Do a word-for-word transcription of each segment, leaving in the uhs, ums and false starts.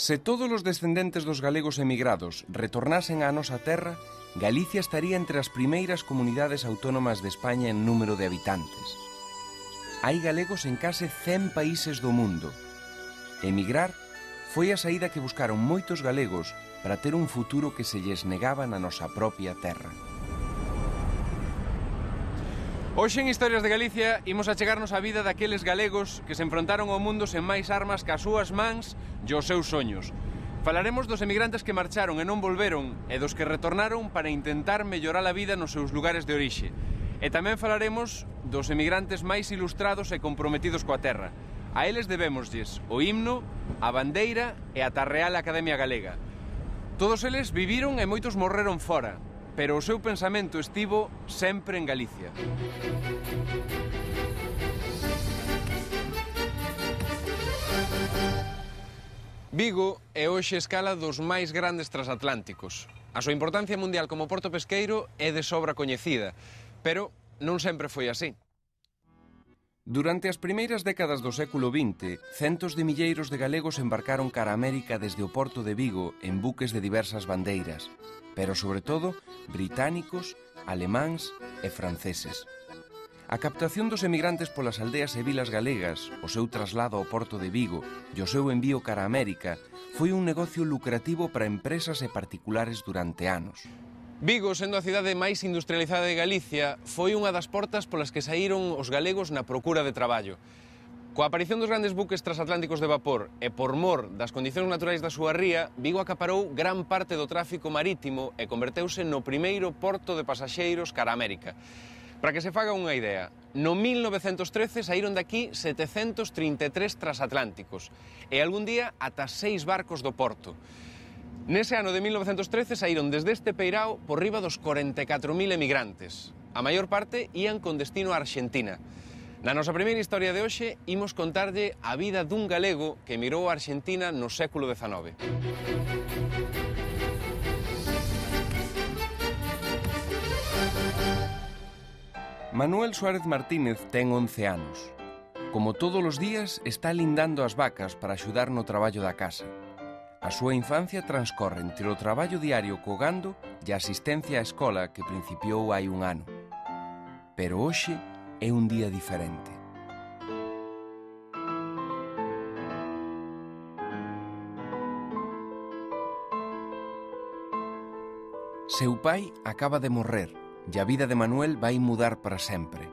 Se todos os descendentes dos galegos emigrados retornasen á nosa terra, Galicia estaría entre as primeiras comunidades autónomas de España en número de habitantes. Hai galegos en case cen países do mundo. Emigrar foi a saída que buscaron moitos galegos para ter un futuro que se lles negaba na nosa propia terra. Hoxe en Historias de Galicia imos a chegarnos á vida daqueles galegos que se enfrontaron ao mundo sen máis armas que as súas mans e os seus soños. Falaremos dos emigrantes que marcharon e non volveron e dos que retornaron para intentar mellorar a vida nos seus lugares de orixe. E tamén falaremos dos emigrantes máis ilustrados e comprometidos coa terra. A eles debémoslles o himno, a bandeira e ata a Real Academia Galega. Todos eles viviron e moitos morreron fora, pero o seu pensamento estivo sempre en Galicia. Vigo é hoxe escala dos máis grandes transatlánticos. A súa importancia mundial como porto pesqueiro é de sobra coñecida, pero non sempre foi así. Durante as primeiras décadas do século vinte, centos de milleiros de galegos embarcaron cara a América desde o porto de Vigo en buques de diversas bandeiras, pero sobre todo británicos, alemáns e franceses. A captación dos emigrantes polas aldeas e vilas galegas, o seu traslado ao porto de Vigo e o seu envío cara a América foi un negocio lucrativo para empresas e particulares durante anos. Vigo, sendo a cidade máis industrializada de Galicia, foi unha das portas polas que saíron os galegos na procura de traballo. Coa aparición dos grandes buques transatlánticos de vapor e por mor das condicións naturais da súa ría, Vigo acaparou gran parte do tráfico marítimo e converteuse no primeiro porto de pasaxeiros cara a América. Para que se faga unha idea, no mil novecentos trece saíron daqui setecentos trinta e tres transatlánticos e algún día ata seis barcos do porto. Nese ano de mil novecentos trece saíron desde este peirao por riba dos corenta e catro mil emigrantes. A maior parte ían con destino a Arxentina. Na nosa primeira historia de hoxe, imos contarlle a vida dun galego que emigrou a Arxentina no século dezanove. Manuel Suárez Martínez ten once anos. Como todos os días, está lindando as vacas para axudar no traballo da casa. A súa infancia transcorre entre o traballo diario co gando e a asistencia á escola que principiou hai un ano. Pero hoxe é un día diferente. Seu pai acaba de morrer e a vida de Manuel vai mudar para sempre.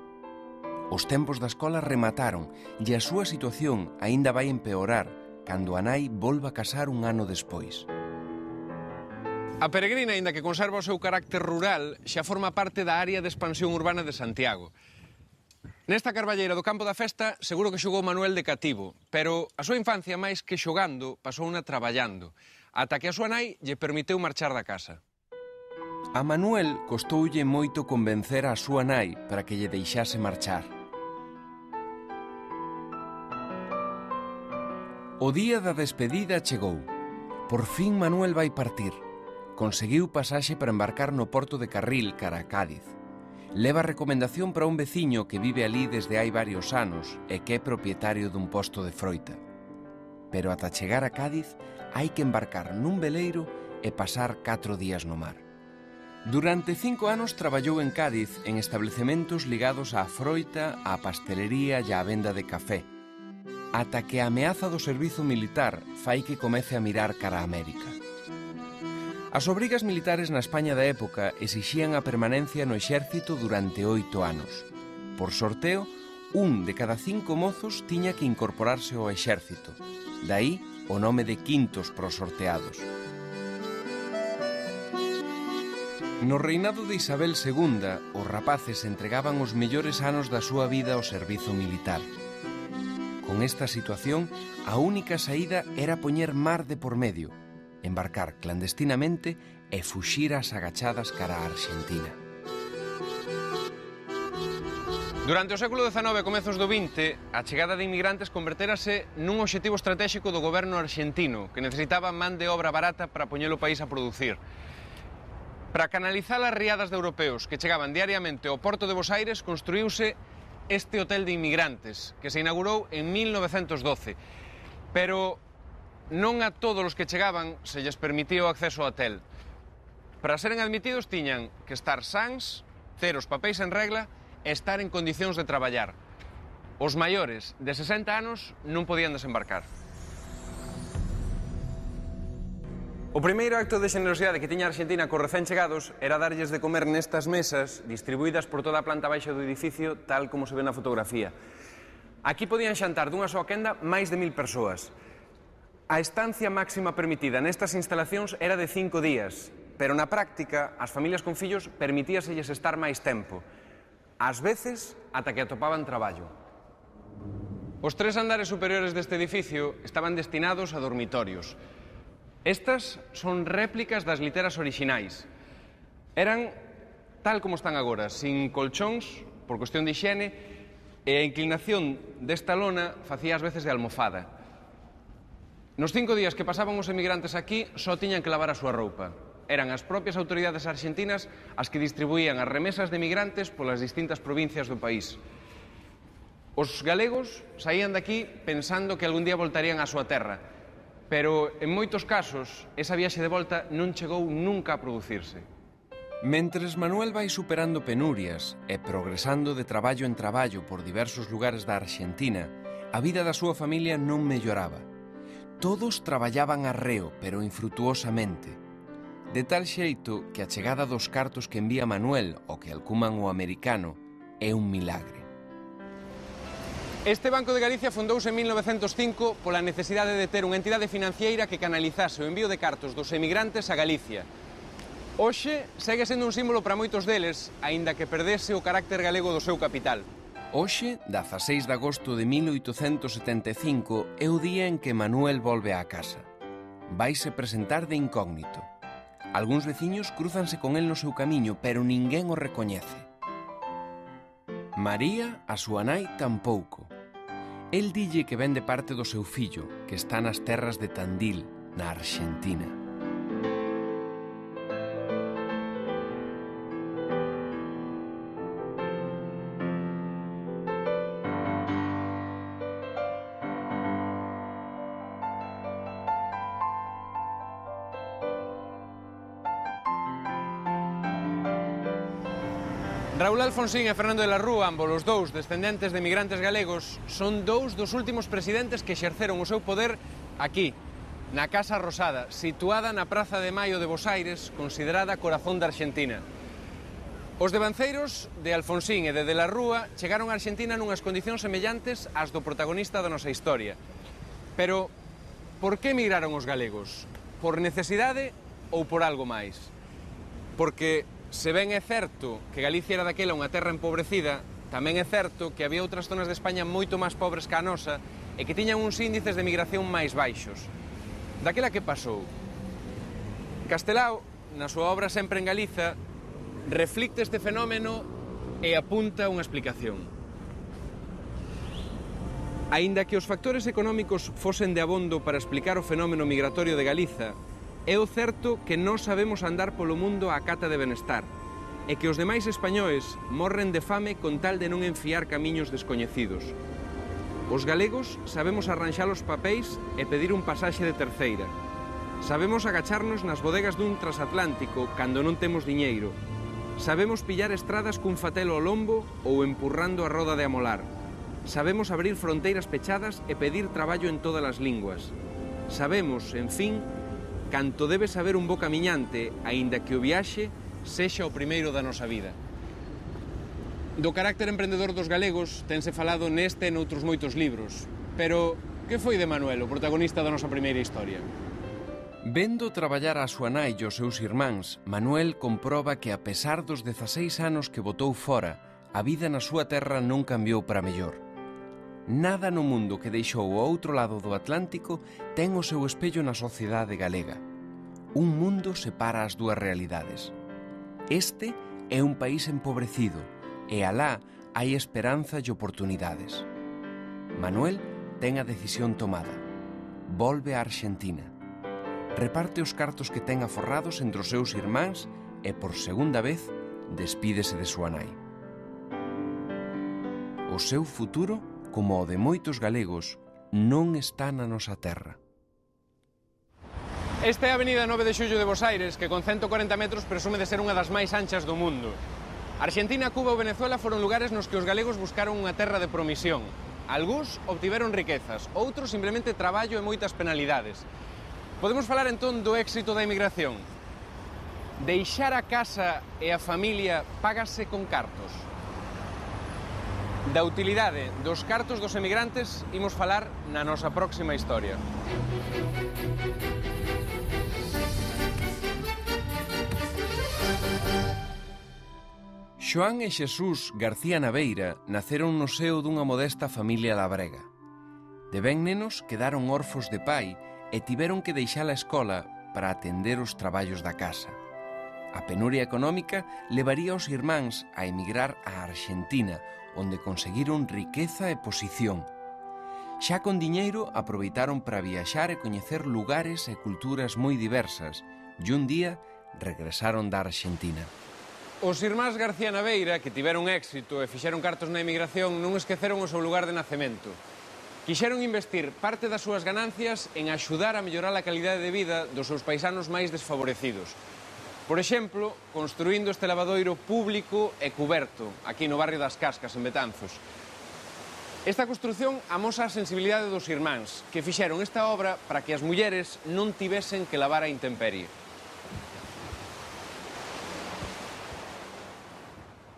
Os tempos da escola remataron e a súa situación aínda vai empeorar cando a nai volva a casar un ano despois. A Peregrina, aínda que conserva o seu carácter rural, xa forma parte da área de expansión urbana de Santiago. Nesta carballeira do Campo da Festa seguro que xogou Manuel de cativo, pero a súa infancia máis que xogando pasouna traballando, ata que a súa nai lle permiteu marchar da casa. A Manuel costoulle moito convencer a súa nai para que lle deixase marchar. O día da despedida chegou. Por fin Manuel vai partir. Conseguiu pasaxe para embarcar no porto de Carril cara a Cádiz. Leva recomendación para un veciño que vive ali desde hai varios anos e que é propietario dun posto de froita. Pero ata chegar a Cádiz hai que embarcar nun veleiro e pasar catro días no mar. Durante cinco anos traballou en Cádiz en establecementos ligados á froita, á pastelería e á venda de café, ata que a ameaza do servizo militar fai que comece a mirar cara a América. As obrigas militares na España da época exixían a permanencia no exército durante oito anos. Por sorteo, un de cada cinco mozos tiña que incorporarse ao exército. Daí o nome de quintos pros sorteados. No reinado de Isabel segunda, os rapaces entregaban os mellores anos da súa vida ao servizo militar. Con esta situación, a única saída era poñer mar de por medio, embarcar clandestinamente e fuxir ás agachadas cara a Arxentina. Durante o século dezanove e comezos do vinte, a chegada de inmigrantes convertérase nun obxectivo estratéxico do goberno arxentino, que necesitaba man de obra barata para poñer o país a producir. Para canalizar as riadas de europeos que chegaban diariamente ao porto de Bos Aires, construíuse este hotel de inmigrantes, que se inaugurou en mil novecentos doce. Pero non a todos os que chegaban se lles permitía o acceso ao hotel. Para seren admitidos tiñan que estar sans, ter os papéis en regla e estar en condicións de traballar. Os maiores de sesenta anos non podían desembarcar. O primeiro acto de xenerosidade que tiña a Argentina cos recén chegados era darlles de comer nestas mesas distribuídas por toda a planta baixa do edificio, tal como se ve na fotografía. Aquí podían xantar dunha soa quenda máis de mil persoas. A estancia máxima permitida nestas instalacións era de cinco días, pero na práctica, as familias con fillos permitíaselles estar máis tempo, ás veces ata que atopaban traballo. Os tres andares superiores deste edificio estaban destinados a dormitorios. Estas son réplicas das literas orixinais. Eran tal como están agora, sin colchóns, por cuestión de hixiene, e a inclinación desta lona facía ás veces de almofada. Nos cinco días que pasaban os emigrantes aquí, só tiñan que lavar a súa roupa. Eran as propias autoridades argentinas as que distribuían as remesas de emigrantes polas distintas provincias do país. Os galegos saían daqui pensando que algún día voltarían á súa terra, pero en moitos casos esa viaxe de volta non chegou nunca a producirse. Mentres Manuel vai superando penurias e progresando de traballo en traballo por diversos lugares da Argentina, a vida da súa familia non melloraba. Todos traballaban arreo, pero infrutuosamente. De tal xeito que a chegada dos cartos que envía Manuel, o que alcuman o americano, é un milagre. Este Banco de Galicia fundouse en mil novecentos cinco pola necesidade de ter unha entidade financiera que canalizase o envío de cartos dos emigrantes a Galicia. Hoxe segue sendo un símbolo para moitos deles, aínda que perdese o carácter galego do seu capital. Hoxe, dezaseis de agosto de mil oitocentos setenta e cinco, é o día en que Manuel volve á casa. Vaise presentar de incógnito. Algúns veciños crúzanse con el no seu camiño, pero ninguén o recoñece. María, a súa nai, tampouco. El dille que ven de parte do seu fillo, que está nas terras de Tandil, na Argentina. Raúl Alfonsín e Fernando de la Rúa, ambos os dous descendentes de emigrantes galegos, son dous dos últimos presidentes que exerceron o seu poder aquí, na Casa Rosada, situada na Praza de Maio de Bos Aires, considerada corazón da Argentina. Os devanceiros de Alfonsín e de de la Rúa chegaron a Argentina nunhas condicións semellantes ás do protagonista da nosa historia. Pero, por que emigraron os galegos? Por necesidade ou por algo máis? Porque se ben é certo que Galicia era daquela unha terra empobrecida, tamén é certo que había outras zonas de España moito máis pobres que a nosa e que tiñan uns índices de migración máis baixos. Daquela que pasou? Castelao, na súa obra Sempre en Galiza, reflicte este fenómeno e apunta unha explicación. Aínda que os factores económicos fosen de abondo para explicar o fenómeno migratorio de Galiza, é o certo que non sabemos andar polo mundo á cata de benestar e que os demais españois morren de fame con tal de non enfiar camiños descoñecidos. Os galegos sabemos arranxar os papéis e pedir un pasaxe de terceira. Sabemos agacharnos nas bodegas dun transatlántico cando non temos diñeiro. Sabemos pillar estradas cun fatelo ao lombo ou empurrando a roda de amolar. Sabemos abrir fronteiras pechadas e pedir traballo en todas as linguas. Sabemos, en fin, canto debe saber un bo camiñante, aínda que o viaxe sexa o primeiro da nosa vida. Do carácter emprendedor dos galegos tense falado neste e noutros moitos libros, pero que foi de Manuel, o protagonista da nosa primeira historia? Vendo traballar a súa nai e os seus irmáns, Manuel comproba que a pesar dos dezaseis anos que botou fora, a vida na súa terra non cambiou para mellor. Nada no mundo que deixou ao outro lado do Atlántico ten o seu espello na sociedade galega. Un mundo separa as dúas realidades. Este é un país empobrecido e alá hai esperanza e oportunidades. Manuel ten a decisión tomada. Volve á Argentina. Reparte os cartos que ten aforrados entre os seus irmáns e, por segunda vez, despídese de súa nai. O seu futuro, como o de moitos galegos, non está na nosa terra. Esta é a avenida nove de xullo de Bos Aires, que con cento corenta metros presume de ser unha das máis anchas do mundo. Argentina, Cuba ou Venezuela foron lugares nos que os galegos buscaron unha terra de promisión. Algúns obtiveron riquezas, outros simplemente traballo e moitas penalidades. Podemos falar entón do éxito da emigración. Deixar a casa e a familia págase con cartos. Da utilidade dos cartos dos emigrantes imos falar na nosa próxima historia. Xoán e Xesús García Naveira naceron no seo dunha modesta familia labrega. De ben nenos quedaron órfos de pai e tiveron que deixar a escola para atender os traballos da casa. A penuria económica levaría os irmáns a emigrar á Argentina, onde conseguiron riqueza e posición. Xa con diñeiro aproveitaron para viaxar e coñecer lugares e culturas moi diversas e un día regresaron da Argentina. Os irmáns García Naveira, que tiveron éxito e fixeron cartos na emigración, non esqueceron o seu lugar de nacemento. Quixeron investir parte das súas ganancias en axudar a mellorar a calidade de vida dos seus paisanos máis desfavorecidos. Por exemplo, construindo este lavadoiro público e cuberto, aquí no barrio das Cascas, en Betanzos. Esta construción amosa a sensibilidade dos irmáns, que fixeron esta obra para que as mulleres non tivesen que lavar a intemperie.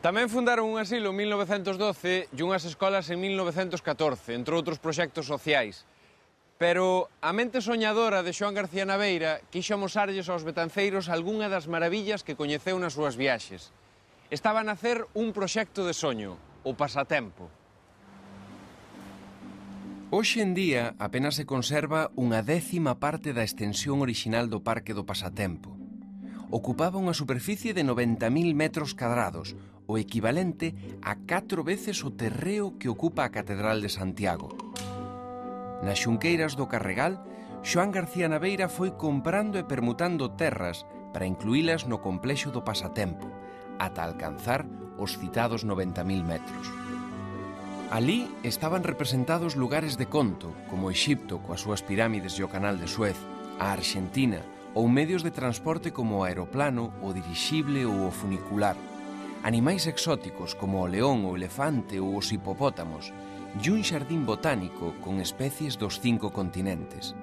Tamén fundaron un asilo en mil novecentos doce e unhas escolas en mil novecentos catorce, entre outros proxectos sociais. Pero a mente soñadora de Xoán García Naveira quixo amosarlles aos betanceiros algunha das maravillas que coñeceu nas súas viaxes. Estaba a nacer un proxecto de soño, o Pasatempo. Hoxe en día apenas se conserva unha décima parte da extensión orixinal do Parque do Pasatempo. Ocupaba unha superficie de noventa mil metros cadrados, o equivalente a catro veces o terreo que ocupa a Catedral de Santiago. Nas xunqueiras do Carregal, Xoán García Naveira foi comprando e permutando terras para incluílas no complexo do Pasatempo, ata alcanzar os citados noventa mil metros. Alí estaban representados lugares de conto, como Exipto coas súas pirámides e o Canal de Suez, a Argentina, ou medios de transporte como o aeroplano, o dirixible ou o funicular, animais exóticos como o león, o elefante ou os hipopótamos, e un xardín botánico con especies dos cinco continentes.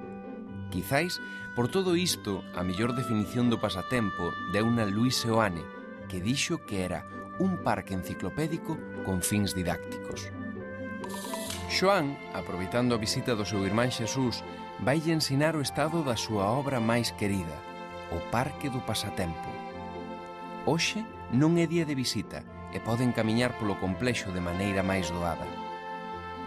Quizáis, por todo isto, a mellor definición do Pasatempo deuna Luis Seoane, que dixo que era un parque enciclopédico con fins didácticos. Xoán, aproveitando a visita do seu irmán Xesús, vaille ensinar o estado da súa obra máis querida, o Parque do Pasatempo. Hoxe non é día de visita e poden camiñar polo complexo de maneira máis doada.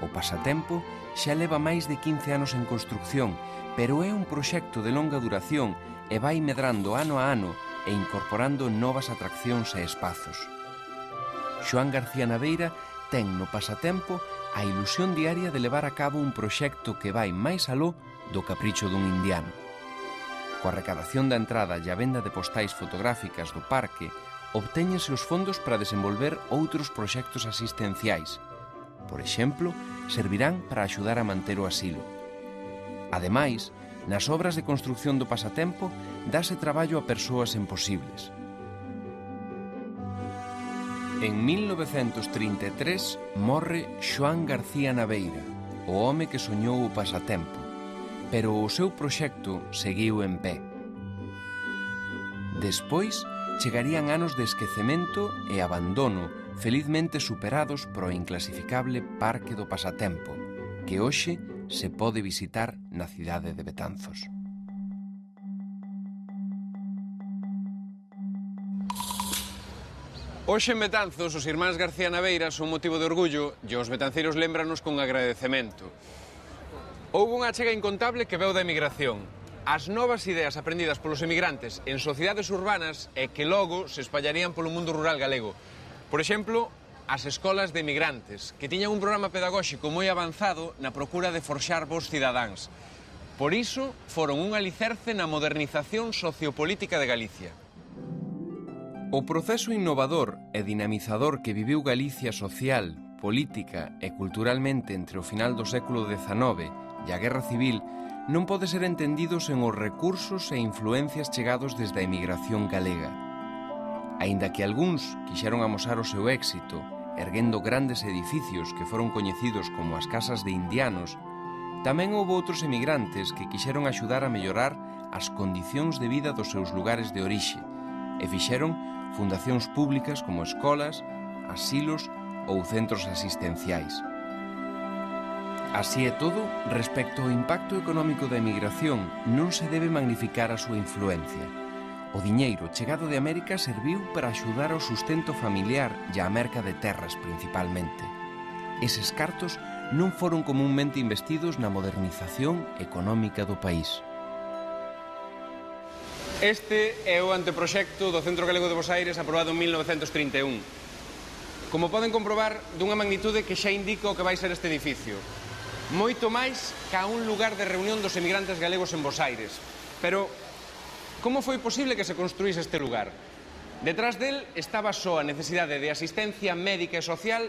O Pasatempo xa leva máis de quince anos en construcción, pero é un proxecto de longa duración e vai medrando ano a ano e incorporando novas atraccións e espazos. Xoán García Naveira ten no Pasatempo a ilusión diaria de levar a cabo un proxecto que vai máis aló do capricho dun indiano. Coa recadación da entrada e a venda de postais fotográficas do parque, obtéñense os fondos para desenvolver outros proxectos asistenciais. Por exemplo, servirán para axudar a manter o asilo. Ademais, nas obras de construcción do Pasatempo, dáse traballo a persoas imposibles. En mil novecentos trinta e tres morre Xoán García Naveira, o home que soñou o Pasatempo, pero o seu proxecto seguiu en pé. Despois, chegarían anos de esquecemento e abandono, felizmente superados pro inclasificable Parque do Pasatempo, que hoxe se pode visitar na cidade de Betanzos. Hoxe en Betanzos, os irmáns García Naveira son motivo de orgullo e os betanceiros lémbranos con agradecemento. Houbo unha achega incontable que veu da emigración. As novas ideas aprendidas polos emigrantes en sociedades urbanas e que logo se espallarían polo mundo rural galego. Por exemplo, as escolas de emigrantes, que tiñan un programa pedagóxico moi avanzado na procura de forxar bons cidadáns. Por iso, foron un alicerce na modernización sociopolítica de Galicia. O proceso innovador e dinamizador que viviu Galicia social, política e culturalmente entre o final do século dezanove e a Guerra Civil non pode ser entendido sen os recursos e influencias chegados desde a emigración galega. Aínda que algúns quixeron amosar o seu éxito, erguendo grandes edificios que foron coñecidos como as casas de indianos, tamén houve outros emigrantes que quixeron axudar a mellorar as condicións de vida dos seus lugares de orixe e fixeron fundacións públicas como escolas, asilos ou centros asistenciais. Así é todo, respecto ao impacto económico da emigración, non se debe magnificar a súa influencia. O diñeiro chegado de América serviu para axudar ao sustento familiar e a merca de terras principalmente. Eses cartos non foron comúnmente investidos na modernización económica do país. Este é o anteproxecto do Centro Galego de Bosaires aprobado en mil novecentos trinta e un. Como poden comprobar, dunha magnitude que xa indica o que vai ser este edificio. Moito máis ca un lugar de reunión dos emigrantes galegos en Bosaires. Pero como foi posible que se construíse este lugar? Detrás del estaba só a necesidade de asistencia médica e social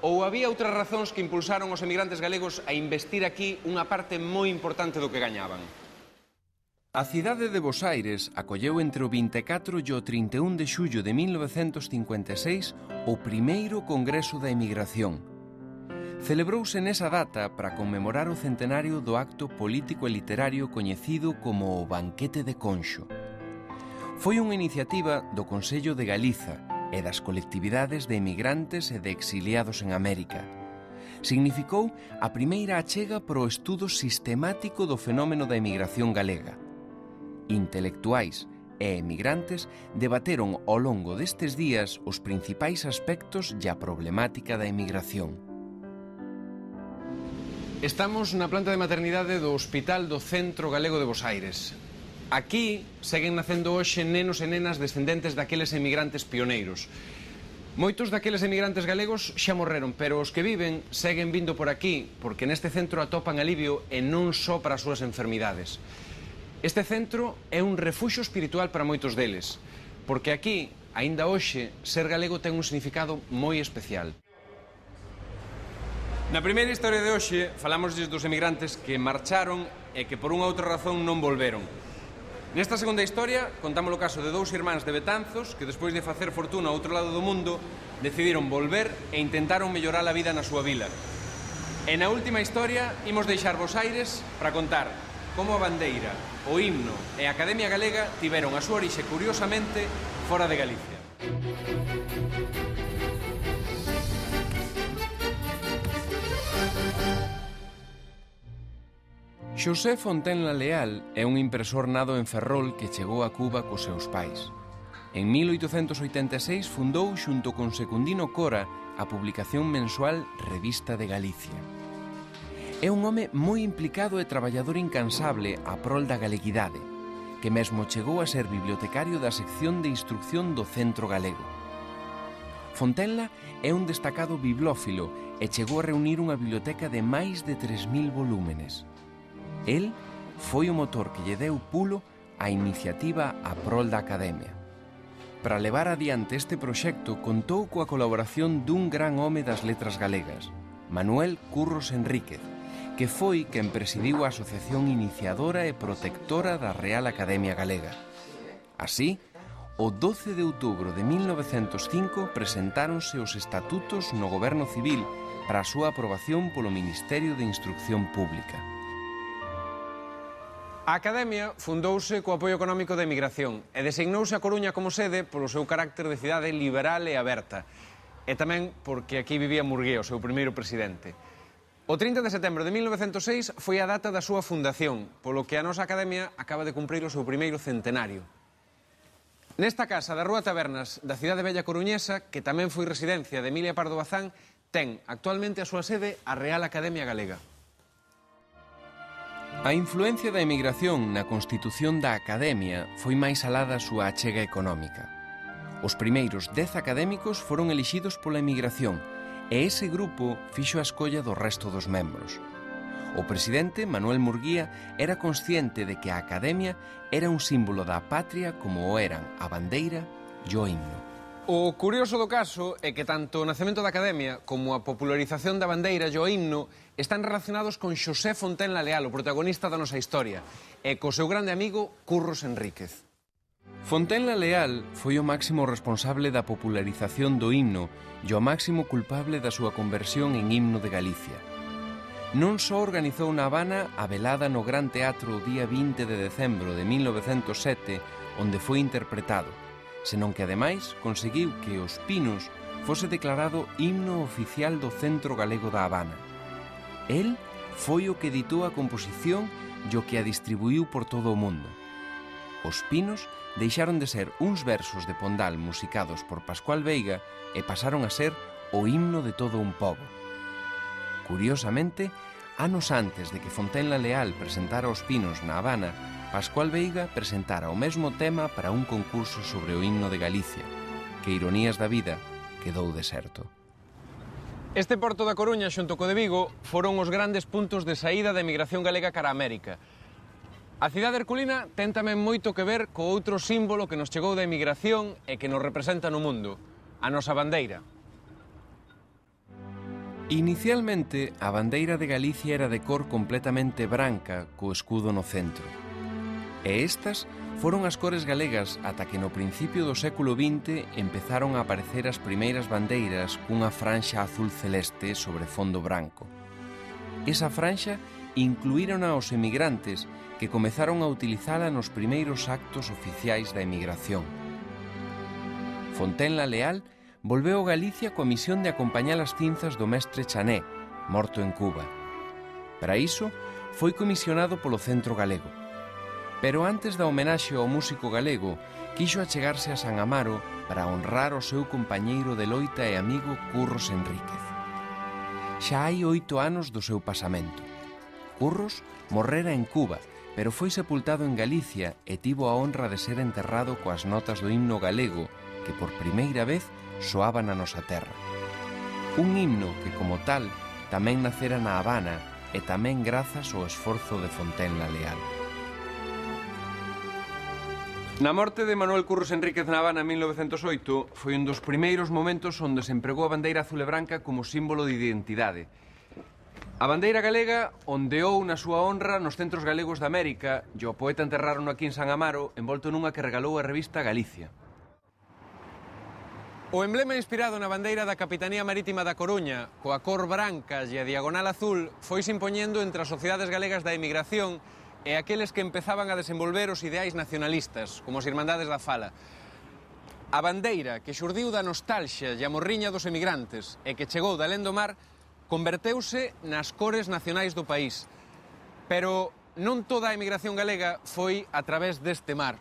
ou había outras razóns que impulsaron os emigrantes galegos a investir aquí unha parte moi importante do que gañaban? A cidade de Bosaires acolleu entre o vinte e catro e o trinta e un de xullo de mil novecentos cincuenta e seis o primeiro Congreso da Emigración. Celebrouse nesa data para conmemorar o centenario do acto político e literario coñecido como o Banquete de Conxo. Foi unha iniciativa do Consello de Galiza e das colectividades de emigrantes e de exiliados en América. Significou a primeira achega para o estudo sistemático do fenómeno da emigración galega. Intelectuais e emigrantes debateron ao longo destes días os principais aspectos e a problemática da emigración. Estamos na planta de maternidade do Hospital do Centro Galego de Bosaires. Aquí seguen nacendo hoxe nenos e nenas descendentes daqueles emigrantes pioneiros. Moitos daqueles emigrantes galegos xa morreron, pero os que viven seguen vindo por aquí porque neste centro atopan alivio e non só para as súas enfermidades. Este centro é un refuxo espiritual para moitos deles, porque aquí, aínda hoxe, ser galego ten un significado moi especial. Na primeira historia de hoxe, falámosles dos emigrantes que marcharon e que por unha outra razón non volveron. Nesta segunda historia, contamos o caso de dous irmáns de Betanzos que, despois de facer fortuna ao outro lado do mundo, decidiron volver e intentaron mellorar a vida na súa vila. E na última historia, imos deixar Bosaires para contar como a bandeira, o himno e a Academia Galega tiveron a súa orixe, curiosamente, fora de Galicia. Xosé Fontenla Leal é un impresor nado en Ferrol que chegou a Cuba cos seus pais. En mil oitocentos oitenta e seis fundou xunto con Secundino Cora a publicación mensual Revista de Galicia. É un home moi implicado e traballador incansable a prol da galeguidade, que mesmo chegou a ser bibliotecario da sección de instrucción do Centro Galego. Fontenla é un destacado bibliófilo e chegou a reunir unha biblioteca de máis de tres mil volúmenes. El foi o motor que lle deu pulo á iniciativa a prol da Academia. Para levar adiante este proxecto contou coa colaboración dun gran home das letras galegas, Manuel Curros Enríquez, que foi quen presidiu a asociación iniciadora e protectora da Real Academia Galega. Así, o doce de outubro de mil novecentos cinco presentáronse os estatutos no Goberno Civil para a súa aprobación polo Ministerio de Instrucción Pública. A Academia fundouse co apoio económico da emigración e designouse a Coruña como sede polo seu carácter de cidade liberal e aberta, e tamén porque aquí vivía Murguía, o seu primeiro presidente. O trinta de setembro de mil novecentos seis foi a data da súa fundación, polo que a nosa Academia acaba de cumprir o seu primeiro centenario. Nesta casa da Rúa Tabernas da cidade bella coruñesa, que tamén foi residencia de Emilia Pardo Bazán, ten actualmente a súa sede a Real Academia Galega. A influencia da emigración na constitución da Academia foi máis alá da súa achega económica. Os primeiros dez académicos foron elixidos pola emigración, e ese grupo fixo a escolla do resto dos membros. O presidente, Manuel Murguía, era consciente de que a Academia era un símbolo da patria como o eran a bandeira e o himno. O curioso do caso é que tanto o nacemento da Academia como a popularización da bandeira e o himno están relacionados con Xosé Fontenla Leal, o protagonista da nosa historia, e co seu grande amigo Curros Enríquez. Fontenla Leal foi o máximo responsable da popularización do himno e o máximo culpable da súa conversión en himno de Galicia. Non só organizou na Habana a velada no Gran Teatro o día vinte de decembro de mil novecentos sete, onde foi interpretado, senón que ademais conseguiu que Os Pinos fose declarado himno oficial do Centro Galego da Habana. El foi o que editou a composición e o que a distribuiu por todo o mundo. Os Pinos deixaron de ser uns versos de Pondal musicados por Pascual Veiga e pasaron a ser o himno de todo un pobo. Curiosamente, anos antes de que Fontenla Leal presentara Os Pinos na Habana, Pascual Veiga presentara o mesmo tema para un concurso sobre o himno de Galicia, que, ironías da vida, quedou deserto. Este porto da Coruña xunto co de Vigo foron os grandes puntos de saída da emigración galega cara a América. A cidade herculina ten tamén moito que ver co outro símbolo que nos chegou da emigración e que nos representa no mundo, a nosa bandeira. Inicialmente, a bandeira de Galicia era de cor completamente branca, co escudo no centro. E estas foron as cores galegas ata que no principio do século vinte empezaron a aparecer as primeiras bandeiras cunha franxa azul celeste sobre fondo branco. Esa franxa incluíron aos emigrantes que comezaron a utilizala nos primeiros actos oficiais da emigración. Fontenla Leal volveu a Galicia coa misión de acompañar as cinzas do mestre Chané, morto en Cuba. Para iso, foi comisionado polo Centro Galego. Pero antes da homenaxe ao músico galego, quixo achegarse a San Amaro para honrar o seu compañeiro de loita e amigo Curros Enríquez. Xa hai oito anos do seu pasamento. Curros morrera en Cuba, pero foi sepultado en Galicia e tivo a honra de ser enterrado coas notas do himno galego que por primeira vez soaba na nosa terra. Un himno que, como tal, tamén nacera na Habana e tamén grazas ao esforzo de Fontenla Leal. Na morte de Manuel Curros Enríquez na Habana en mil novecentos oito foi un dos primeiros momentos onde se empregou a bandeira azul e branca como símbolo de identidade. A bandeira galega ondeou na súa honra nos centros galegos de América e o poeta enterraron aquí en San Amaro envolto nunha que regalou a revista Galicia. O emblema inspirado na bandeira da Capitanía Marítima da Coruña, coa cor branca e a diagonal azul, foise impoñendo entre as sociedades galegas da emigración e aqueles que empezaban a desenvolver os ideais nacionalistas, como as Irmandades da Fala. A bandeira que xurdiu da nostalgia e a morriña dos emigrantes e que chegou da alén do mar converteuse nas cores nacionais do país. Pero non toda a emigración galega foi a través deste mar.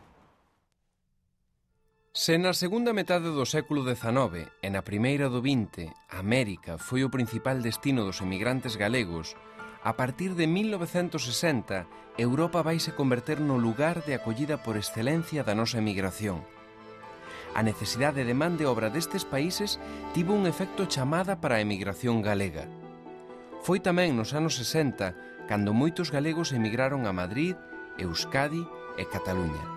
Se na segunda metade do século dezanove e na primeira do vinte América foi o principal destino dos emigrantes galegos, a partir de mil novecentos sesenta, Europa vaise converter no lugar de acollida por excelencia da nosa emigración. A necesidade de man de obra destes países tivo un efecto chamada para a emigración galega. Foi tamén nos anos sesenta cando moitos galegos emigraron a Madrid, Euskadi e Cataluña.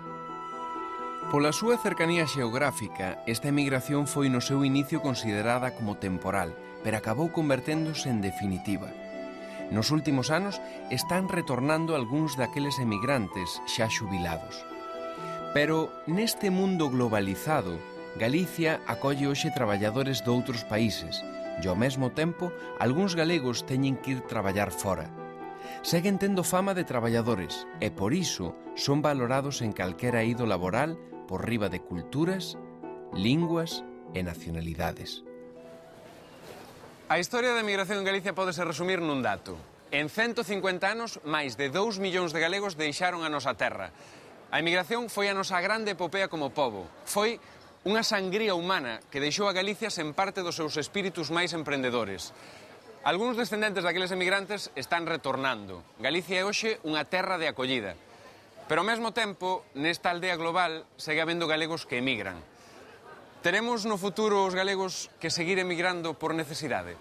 Pola súa cercanía xeográfica, esta emigración foi no seu inicio considerada como temporal, pero acabou converténdose en definitiva. Nos últimos anos están retornando algúns daqueles emigrantes xa xubilados. Pero neste mundo globalizado, Galicia acolle hoxe traballadores doutros países e ao mesmo tempo algúns galegos teñen que ir traballar fora. Seguen tendo fama de traballadores e por iso son valorados en calquera eido laboral por riba de culturas, linguas e nacionalidades. A historia da emigración en Galicia pódese resumir nun dato. En cento cincuenta anos, máis de dous millóns de galegos deixaron a nosa terra. A emigración foi a nosa grande epopea como pobo. Foi unha sangría humana que deixou a Galicia sen parte dos seus espíritus máis emprendedores. Algúns descendentes daqueles emigrantes están retornando. Galicia é hoxe unha terra de acollida. Pero ao mesmo tempo, nesta aldea global, segue habendo galegos que emigran. Teremos no futuro os galegos que seguir emigrando por necesidade?